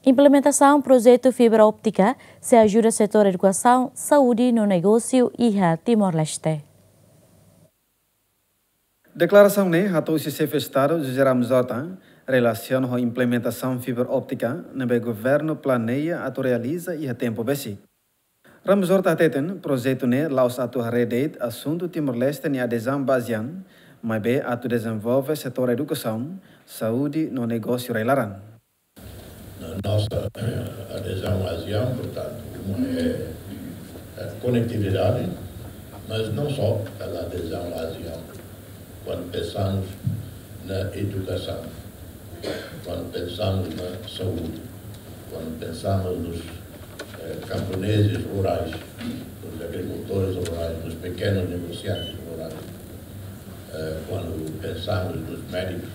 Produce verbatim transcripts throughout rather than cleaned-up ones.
Implementasaun projetu fibra óptika sei ajuda setór edukasaun, saúde no negósiu iha Timor-Leste. Deklarasaun ne'e hato'o husi Xefe Estadu José Ramos Horta relasiona ho implementasaun fibra óptika ne'ebé governu planeia atu realiza iha tempu besik. Ramos Horta hateten projetu ne'e la'ós atu haree de'it asuntu Timor-Leste nia adezaun ba ASEAN, maibé atu dezenvolve setór edukasaun, saúde no negósiu rai-laran. Na nossa, eh, adesão à ASEAN, portanto, uma é a conectividade, mas não só pela adesão à ASEAN. Quando pensamos na educação, quando pensamos na saúde, quando pensamos nos, eh, camponeses rurais, nos agricultores rurais, nos pequenos negociantes rurais, eh, quando pensamos nos médicos,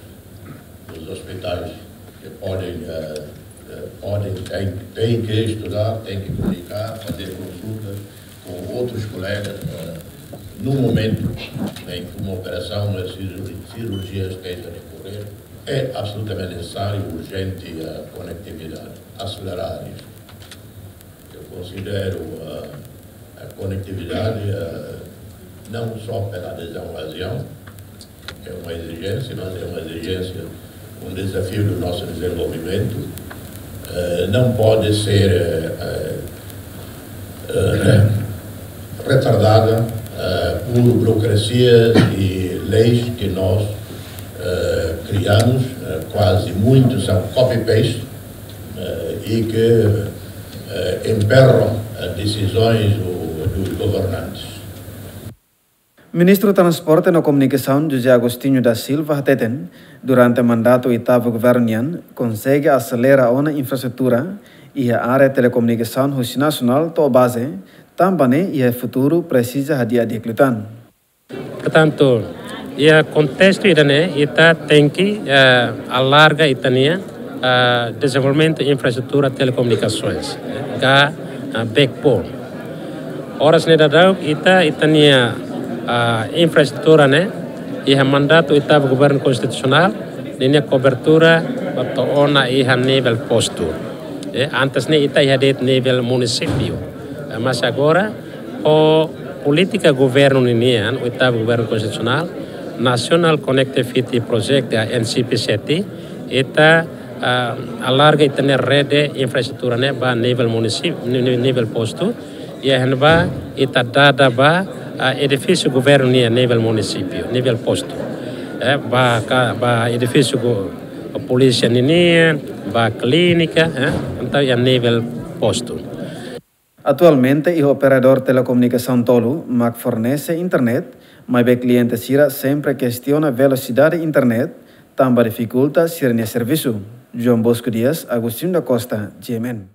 nos hospitais, que podem, eh, eh, podem, têm, têm que estudar, têm que comunicar, fazer consultas com outros colegas, eh, no momento em que uma operação, uma cirurgi-, cirurgia esteja a decorrer, é absolutamente necessário, urgente a conectividade, acelerar isso. Eu considero a, a conectividade, eh, não só pela adesão à ASEAN, é uma exigência, mas é uma exigência, um desafio do nosso desenvolvimento. Eh, não pode ser, eh, eh, eh, retardada, eh, por burocracias e leis que nós, eh, criamos, eh, quase muitos são copy-paste, eh, e que, eh, emperram as decisões do, dos governantes. Ministru Transporte no Komunikasaun José Agostinho da Silva hateten, durante mandatu oitavu governu nian, konsege aselera ona infraestrutura iha área telekomunikasaun husi nasionál to'o baze, tanba ne'e iha futuru presiza hadi'a di'ak liután. Portantu, iha kontestu ida-ne'e, ita tenke, eh, alarga ita-nia, eh, dezenvolvimentu infraestrutura telekomunikasoens, eh, ka, eh, backbone. Oras ne'e daudaun ita, ita-nia, eh, infraestrutura ne'e, iha mandatu oitavu governu konstitusionál, ninia kobertura ba to'o ona iha nivel postu. Eh, antes ne'e ita iha de'it nivel munisípiu. Eh, mas agora, ho polítika governu ninian, oitavu governu konstitusionál, National Connectivity Project, eh, N C P sete, ita, ah, alarga ita-nia rede infraestrutura ne'e ba nivel munisípiu, ni-, ni-, nivel postu, iha ne'ebá ita dada ba, ah, edifísiu governu nian nivel munisípiu, nivel postu. Eh, ba ka, ba edifísiu go-, polísia ninian, ba klínika, eh, entaun iha nivel postu. Atualmente, iha operadór telekomunikasaun tolu mak fornese internet, maibé kliente sira sempre kestiona velosidade internet, tanba difikulta sira-nia servisu. João Bosco Dias, Agostinho da Costa, G M N.